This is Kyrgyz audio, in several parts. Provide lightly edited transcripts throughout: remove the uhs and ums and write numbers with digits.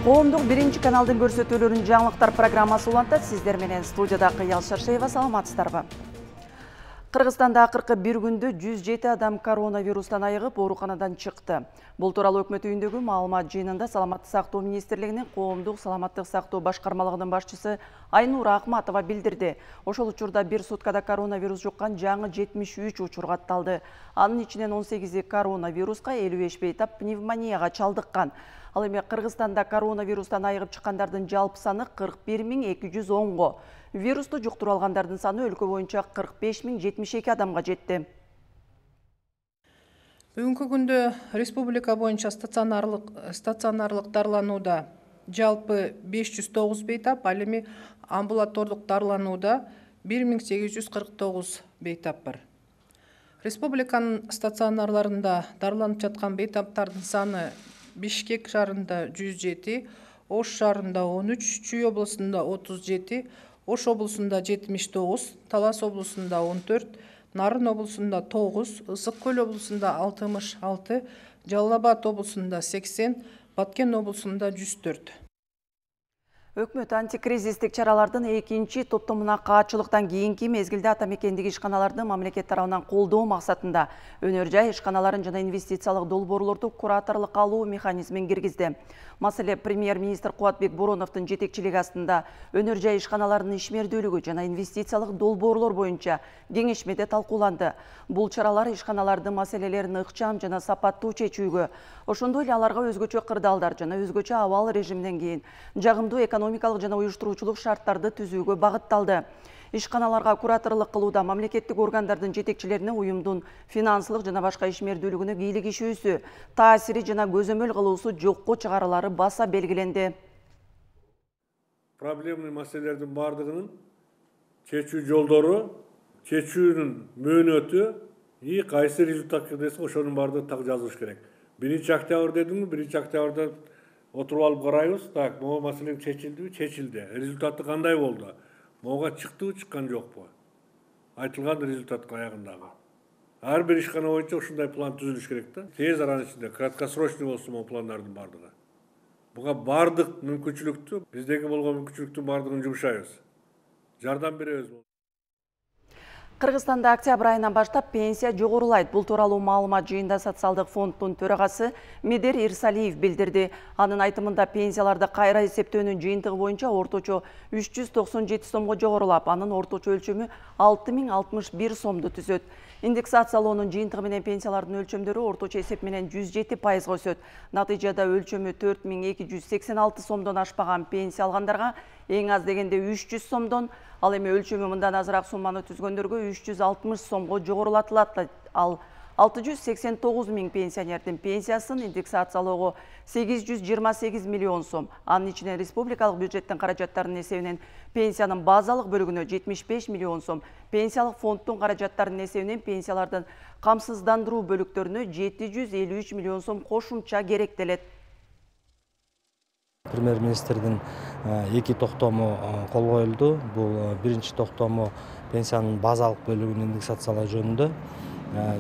Коомдук биринчи каналдын көрсөтүүлөрүн жаңылыктар программасы улантат. Сиздер менен студияда Кыял Шаршеева, саламатсыздарбы? Кыргызстанда акыркы бир күндө 107 адам коронавирустан айыгып, ооруканадан чыкты. Бул тууралуу өкмөт үйүндөгү маалымат жыйынында Саламаттык сактоо министрлигинин коомдук саламаттык сактоо башкармалыгынын башчысы Айнура Акматова билдирди. Ошол учурда бир суткада коронавирус жуккан жаңы 73 учур катталды. Анын ичинен 18 коронавируска, 55 бейтап пневмонияга чалдыккан. Ал эми Кыргызстанда коронавирустан айыгып чыккандардын жалпы саны 41.210го. Вирусту жуктуруп алгандардын саны өлкө боюнча 45.072 адамга жетти. Бүгүнкү күндө республика боюнча стационарлык дарыланууда жалпы 509 бейтап, ал эми амбулатордук дарыланууда 1849 бейтап бар. Республиканын стационарларында дарыланып жаткан бейтаптардын саны Бишкек шаарында 107, Ош шаарында 13, Чүй облусунда 37, Ош облусунда 79, Талас облусунда 14, Нарын облусунда 9, Ысык көл облусунда 66, Жалал Абад облусунда 80, Баткен облусунда 104. Өкмөт антикризистик чаралардын экинчи топтомуна каатчылыктан кийинки мезгилде ата мекендеги ишканаларды мамлекет тарабынан колдоо максатында өнөр жай ишканаларын жана инвестициялык долбоорлорду кураторлук алуу механизмин киргизди. Маселе премьер-министр Кубатбек Бороновдун жетекчилиги астында өнөр жай ишканаларынын ишмердүүлүгү жана инвестициялык долбоорлор боюнча кеңешмеде талкууланды. Бул чаралар ишканалардын маселелерин ыкчам жана сапаттуу чечүүгө, ошондой эле аларга өзгөчө кырдаалдар жана өзгөчө абал режимден кийин жагымдуу экономикалык жана уюштуруучулук шарттарды түзүүгө багытталды. Ишканаларга кураторлук кылууда мамлекеттик органдардын жетекчилерине уюмдун финансылык жана башка ишмердүүлүгүнө кийлигишүүсү, таасири жана көзөмөл кылуусу жокко чыгарылары баса белгиленди. Проблемный маселелердин бардыгынын чечүү жолдору, чечүүнүн мөөнөтү и кайсы результатка десе ошонун бардыгын так жазылыш керек. 1 октябрь дедимби, 1 октябрда отуруп алып карайбыз, так, могу маселең чечилдиби? Чечилди. Результаты кандай болду? Могуга чыктыбы, чыккан жокпу? Айтылган результат аягындагы. Ар бир ишкана боюнча ушундай план түзүлүш керек да. Тез аранын ичинде краткосрочный болсун могу пландардын бардыгы. Буга бардык мүмкүнчүлүктү, биздеги болгон мүмкүнчүлүктүн бардыгын жумшайбыз. Жардам беребиз. Кыргызстанда октябрь айынан баштап пенсия жогорулайт. Бул тууралуу маалымат жыйында социалдык фонддун төрагасы Медер Ирсалиев билдирди. Анын айтымында пенсияларды кайра эсептөөнүн жыйынтыгы боюнча орточо 397 сомго жогорулап, анын орточо өлчөмү 6061 сомду түзөт. Индексациялоонун жыйынтыгы менен пенсиялардын өлчөмдөрү орточо эсеп менен 107% өсөт. Натыйжада өлчөмү 4226 сомдон ашпаган пенсия алгандарга эң аз дегенде 300 сомдон, ал эми өлчөмү мындан азыраак сумманы түзгөндөргө 360 сомго жогорулатылат. Ал 689 миң пенсионердин пенсиясын индексациялоого 828 миллион сом. Анын ичинен республикалык бюджеттин каражаттарынын эсебинен пенсиянын базалык бөлүгүнө 75 миллион сом, пенсиялык фонддун каражаттарынын эсебинен пенсиялардын камсыздандыруу бөлүктөрүнө 753 миллион сом кошумча керектелет. Премьер-министрдин 2 токтому кол коюлду. Бул биринчи токтому пенсиянын базалык бөлүгүн индексациялоо жөнүндө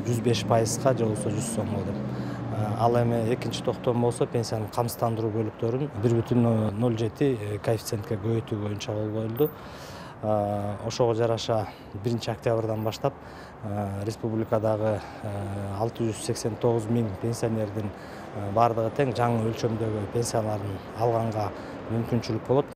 105%га же болбосо 100 сомго деп. Ал эми экинчи токтом болсо пенсиянын камсыздандыруу бөлүктөрүн 1,07 коэффициентке көбөйтүү боюнча кол коюлду. Ошого жараша 1 октябрдан баштап республикадагы 689 миң пенсионердин бардыгы тең жаңы өлчөмдөгү пенсияларын алганга мүмкүнчүлүк болот.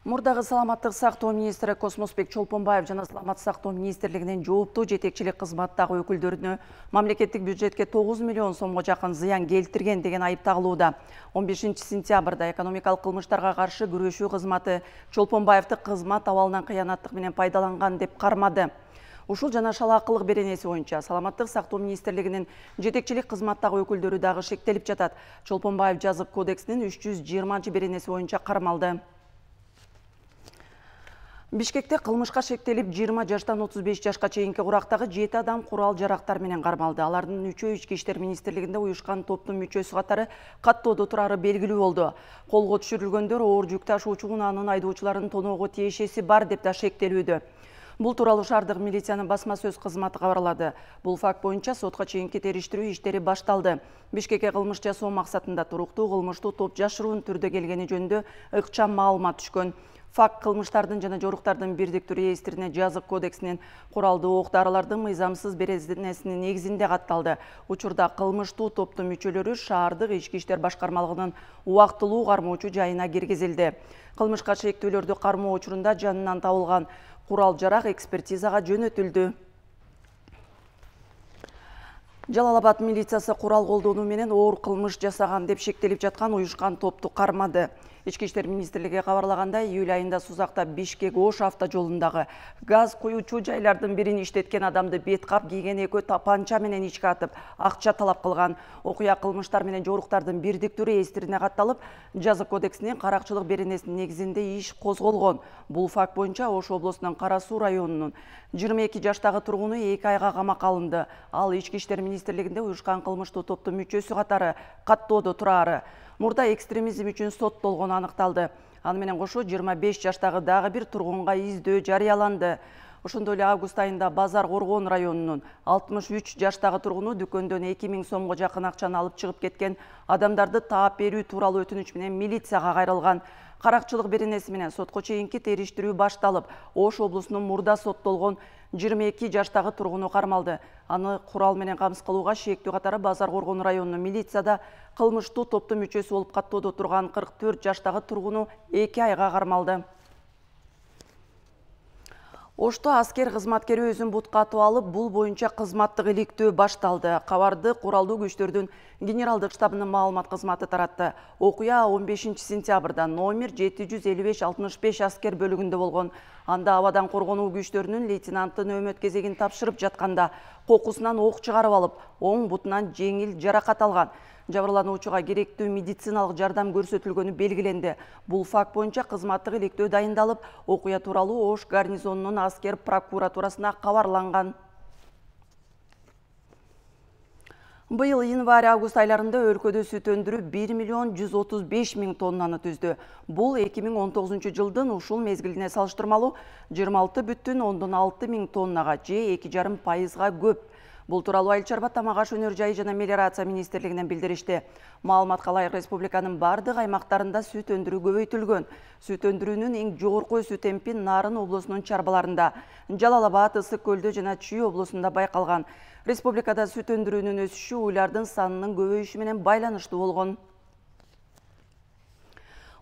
Мурдагы саламаттык сактоо министри Космосбек Чолпонбаев жана саламаттык сактоо министрлигинин жооптуу жетекчилик кызматтагы өкүлдөрүнө мамлекеттик бюджетке 9 миллион сомго жакын зыян келтирген деген айып тагылууда. 15 сентябрда экономикалык кылмыштарга каршы күрөшүү кызматы Чолпонбаевди кызмат абалынан кыянаттык менен пайдаланган деп кармады. Ушул жана шалаакылык беренеси боюнча саламаттык сактоо министрлигинин жетекчилик кызматтагы өкүлдөрү дагы шектелип жатат. Чолпонбаев жазык кодексинин 320 беренеси боюнча кармалды. Бишкекте кылмышка шектелип 20 жаштан 35 жашка чейинки курактагы 7 адам курал жарактар менен кармалды. Алардын 3-өө Ички иштер министрлигинде уюшкан топтун мүчөсү катары каттоодо турары белгилүү болду. Колго түшүрүлгөндөр оор жүк ташуучу унаанын айдоочуларын тоноого тиешеси бар деп да шектелүүдө. Бул тууралуу шаардык милициянын басма сөз кызматы кабарлады. Бул факт боюнча сотко чейинки териштирүү иштери башталды. Бишкекке кылмыш жасоо максатында туруктуу кылмыштуу топ жашыруун түрдө келгени жөнүндө ыкчам маалымат түшкөн. Факт кылмыштардын жана жоруктардын бирдиктүү реестрине жазык кодексинин куралдуу ок-дарылардын мыйзамсыз беренесинин негизинде катталды. Учурда кылмыштуу топтун мүчөлөрү шаардык ички иштер башкармалыгынын убактылуу кармоочу жайына киргизилди. Кылмышка шектүүлөрдү кармоо учурунда жанынан табылган курал-жарак экспертизага жөнөтүлдү. Жалал-Абад милициясы курал колдонуу менен оор кылмыш жасаган деп шектелип жаткан уюшкан топту кармады. Ички иштер министрлиги кабарлагандай, июль айында Сузакта Бишкек-Ош автожолундагы газ куюучу жайлардын бирин иштеткен адамды бет кап кийген экөө тапанча менен ичке атып, акча талап кылган. Окуя кылмыштар менен жоруктардын бирдиктүү реестрине катталып, жазык кодексинин каракчылык беренесинин негизинде иш козголгон. Бул факт боюнча Ош облусунун Кара Суу районунун 22 жаштагы тургуну 2 айга камакка алынды. Ал ички иштер министрлигинде уюшкан кылмыштуу топтун мүчөсү катары каттоодо турары. Мурда экстремизм үчүн соттолгону аныкталды. Аны менен кошо 25 жаштагы дагы бир тургунга издөө жарыяланды. Ошондой эле август айында Базар Коргон районунун 63 жаштагы тургуну дүкөндөн 2000 сомго жакын акчаны алып чыгып кеткен адамдарды таап берүү тууралуу өтүнүч менен милицияга кайрылган. Каракчылык беренеси менен сотко чейинки териштирүү башталып, Ош облусунун мурда соттолгон 22 жаштагы тургуну кармалды. Аны курал менен камсыз кылууга шектүү катары Базар Коргон районунун милицияда кылмыштуу топтун мүчөсү болуп каттоодо турган 44 жаштагы тургуну 2 айга кармалды. Ошто аскер кызматкери өзүн бутка атып алып, бул боюнча кызматтык иликтөө башталды. Кабарды куралдуу күчтөрдүн генералдык штабынын маалымат кызматы таратты. Окуя 15 сентябрда номер 755-65 аскер бөлүгүндө болгон. Анда абадан коргонуу күчтөрүнүн лейтенанты нөөмөт кезегин тапшырып жатканда кокусунан ок чыгарып алып, оң бутунан жеңил жаракат алган. Жабырлануучуга керектүү медициналык жардам көрсөтүлгөнү белгиленди. Бул факт боюнча кызматтык иликтөө дайындалып, окуя тууралуу Ош гарнизонунун аскер прокуратурасына кабарланган. Быйыл январь-август айларында өлкөдө сүт өндүрүү 1 миллион 135 миң тоннаны түздү. Бул 2019 жылдын ушул мезгилине салыштырмалуу 26,6 миң тоннага же 2,5% көп. Бул тууралуу Айыл чарба, тамак аш өнөр жайы жана мелиорация министрлигинен билдиришти. Маалыматка ылайык республиканын бардык аймактарында сүт өндүрүү көбөйтүлгөн. Сүт өндүрүүнүн эң жогорку өсүү темпи Нарын облусунун чарбаларында, Жалал-Абад, Ысык көлдө жана Чүй облусунда байкалган. Республикада сүт өндүрүүнүн өсүшү уйлардын санынын көбөйүшү менен байланыштуу болгон.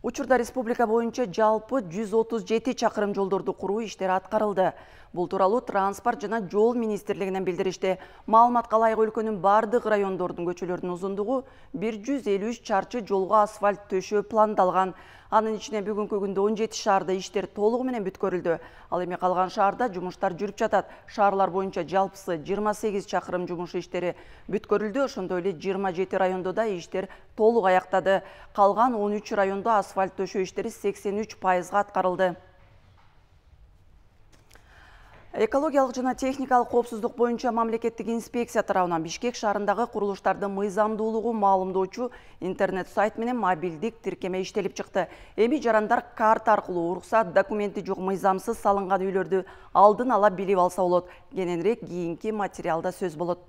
Учурда республика боюнча жалпы 137 чакырым жолдорду куруу иштери аткарылды. Бул тууралуу транспорт жана жол министрлигинен билдиришти. Маалыматка ылайык өлкөнүн бардык райондордун көчөлөрүнүн узундугу 153 чарчы жолго асфальт төшөө пландалган. Анын ичине бүгүнкү күндө 17 шаарда иштер толугу менен бүткөрүлдү. Ал эми калган шаарда жумуштар жүрүп жатат. Шаарлар боюнча жалпысы 28 чакырым жумуш иштери бүткөрүлдү. Ошондой эле 27 райондо да иштер толук аяктады. Калган 13 райондо асфальт төшөө иштери 83% аткарылды. Экологиялык жана техникалык коопсуздук боюнча мамлекеттик инспекция тарабынан Бишкек шаарындагы курулуштардын мыйзамдуулугу маалымдоочу интернет-сайт менен мобилдик тиркеме иштелип чыкты. Эми жарандар карта аркылуу уруксат документи жок мыйзамсыз салынган үйлөрдү алдын ала билип алса болот. Кененирээк кийинки материалда сөз болот.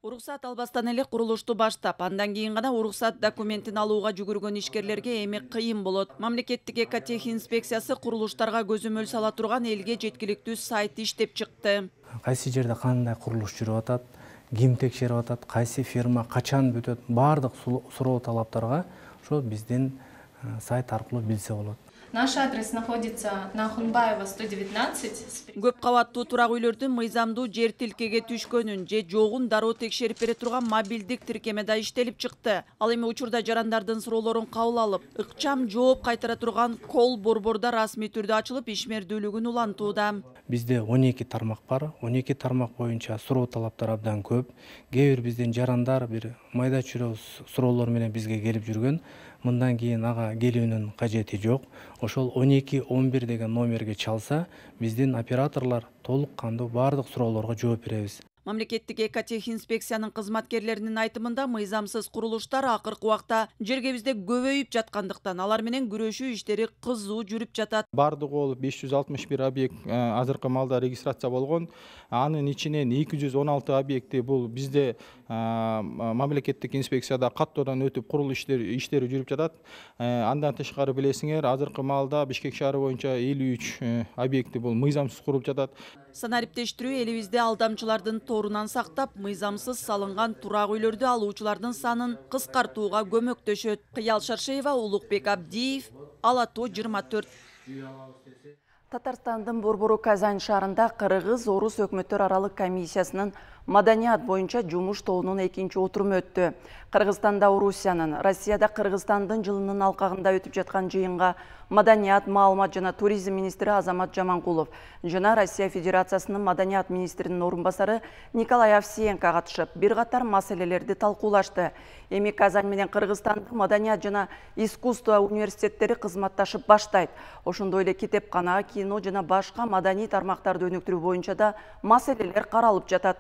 Уруксат албастан эле курулушту баштап, андан кийин гана уруксат документин алууга жүгүргөн ишкерлерге эми кыйын болот. Мамлекеттик экотех инспекциясы курулуштарга көзөмөл сала турган элге жеткиликтүү сайт иштеп чыкты. Кайсы жерде кандай курулуш жүрүп атат, ким текшерип атат, кайсы фирма качан бүтөт, баардык суроо талаптарга ошо биздин сайт аркылуу билсе болот. Наш адрес находится на Хунбаева 119. Көп кабаттуу турак үйлөрдүн мыйзамдуу жер тилкеге түшкөнүн же жогун дароо текшерип бере турган мобилдик тиркеме да иштелип чыкты. Ал эми учурда жарандардын суроолорун кабыл алып, ыкчам жооп кайтара турган кол борбордо расмий түрдө ачылып, ишмердүүлүгүн улантууда. Бизде 12 тармак бар. 12 тармак боюнча суроо талаптар абдан көп. Кээ бир биздин жарандар бир майда чүйрө суроолор менен бизге келип жүргөн. Мындан кийин ага келүүнүн кажети жок. Ошол 12-11 деген номерге чалса, биздин операторлор толук кандуу баардык суроолорго жооп беребиз. Мамлекеттик экотехинспекциянын кызматкерлеринин айтымында мыйзамсыз курулуштар акыркы убакта жергебизде көбөйүп жаткандыктан алар менен күрөшүү иштери кызуу жүрүп жатат. Бардыгы болуп 561 объект азыркы маалда регистрация болгон. Анын ичинен 216 объекти бул бизде мамлекеттик инспекцияда каттоодон өтүп курулуш иштери жүрүп жатат. Андан тышкары билесиңер, азыркы маалда Бишкек шаары боюнча 53 объекти бул мыйзамсыз курулуп жатат. Санариптештирүү элибизде алдамчылардын торунан сактап, мыйзамсыз салынган турак үйлөрдү алуучулардын санын кыскартууга көмөктөшөт. Кыял Шаршеева, Улукбек Абдиев, Ала Тоо 24. Татарстандын Борбору Казань шаарында Кыргыз-Орус өкмөттөр аралык комиссиясынын маданият боюнча жумуш тобунун экинчи отуруму өттү. Кыргызстанда Орусиянын, Россияда Кыргызстандын жылынын алкагында өтүп жаткан жыйынга маданият, маалымат жана туризм министри Азамат Жаманкулов жана Россия Федерациясынын маданият министринин орун басары Николай Овсиенко катышып, бир катар маселелерди талкуулашты. Эми Казань менен Кыргызстандын маданият жана искусство университеттери кызматташып баштайт. Ошондой эле китепкана, кино жана башка маданий тармактарды өнүктүрүү боюнча да маселелер каралып жатат.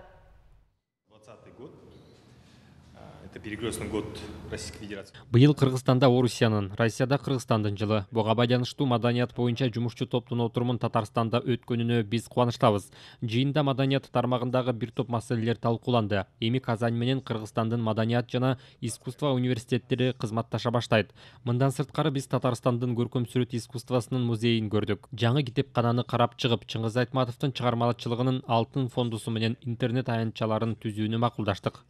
Перекрестный год Российской Федерации. Быйыл Кыргызстанда Орусиянын, Россияда Кыргызстандын жылы. Буга байланыштуу маданият боюнча жумушчу топтун отурумун Татарстанда өткөнүнө биз кубанычтабыз. Жыйында маданият тармагындагы бир топ маселелер талкууланды. Эми Казань менен Кыргызстандын маданият жана искусство университеттери кызматташа баштайт. Мындан сырткары биз Татарстандын көркөм сүрөт искусствосунун музейин көрдүк. Жаңы китепкананы карап чыгып, Чыңгыз Айтматовдун чыгармачылыгынын алтын фондусу менен интернет аянтчаларын түзүүнү макулдаштык.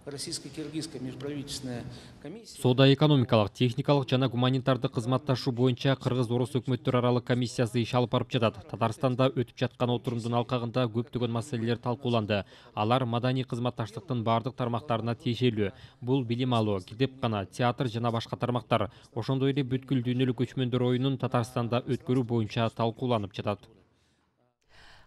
Российско-киргизская межправительственная комиссия. Соода-экономикалык, техникалык жана гуманитардык кызматташуу боюнча Кыргыз-Орус өкмөттөр аралык комиссиясы иш алып барып жатат. Татарстанда өтүп жаткан отурумдун алкагында көптөгөн маселелер талкууланды. Алар маданий кызматташтыктын бардык тармактарына тиешелүү. Бул билим алуу, китепкана, театр жана башка тармактар. Ошондой эле бүткүл дүйнөлүк көчмөндөр оюнун Татарстанда өткөрүү боюнча талкууланып жатат.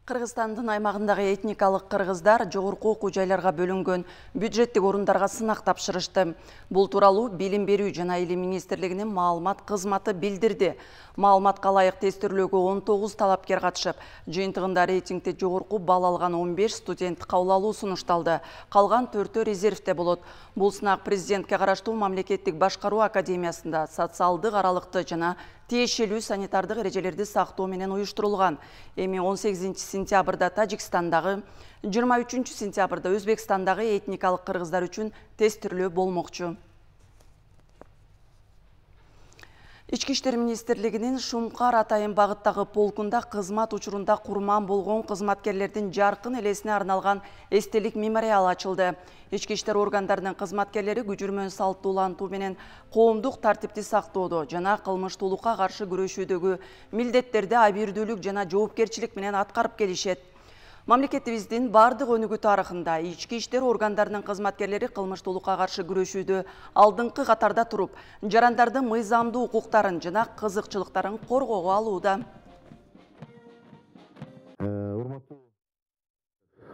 Кыргызстандын аймагындагы этникалык кыргыздар жогорку окуу жайларга бөлүнгөн бюджеттик орундарга сынак тапшырышты. Бул тууралуу Билим берүү жана Илим министрлигинин маалымат кызматы билдирди. Маалыматка ылайык тестирлөөгө 19 талапкер катышып, жыйынтыгында рейтингде жогорку балл алган 15 студент кабыл алуу сунушталды. Калган 4-өө резервде болот. Бул сынак президентке караштуу мамлекеттик башкаруу академиясында социалдык аралыкты жана тиешелүү санитардык эрежелерди сактоо менен уюштурулган. Эми 18 сентябрда Тажикстандагы, 23 сентябрда Өзбекстандагы этникалык кыргыздар үчүн тестирлөө болмокчу. Ички иштер министрлигинин Шумкар Атайын багыттагы полкунда кызмат учурунда курман болгон кызматкерлердин жаркын элесине арналган эстелик мемориал ачылды. Ички иштер органдарынын кызматкерлери күчүрмөн салттуулантуу менен коомдук тартипти сактоодо жана кылмыштуулукка каршы күрөшүүдөгү милдеттерди абийирдүүлүк жана жоопкерчилик менен аткарып келишет. Мамлекетибиздин бардык өнүгүү тарыхында ички иштер органдарынын кызматкерлери кылмыштуулукка каршы күрөшүүдө алдыңкы катарда туруп, жарандардын мыйзамдуу укуктарын жана кызыкчылыктарын коргоого алууда.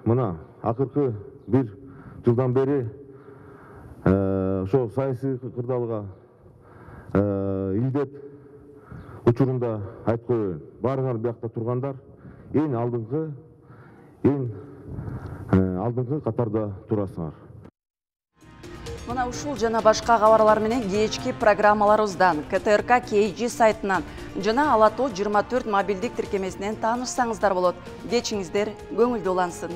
Мына акыркы бир жылдан бери ошо саясий кырдаалга илдеп учурунда айтып коеюн. Баарыңар биякта тургандар эң алдыңкы катарда турасыңар. Мына ушул жана башка кабарлар менен кечки программаларыбыздан КТРК KG сайтынан жана Ала Тоо 24 мобилдик тиркемесинен таанышсаңыздар болот. Кечиңиздер көңүлдүү улансын.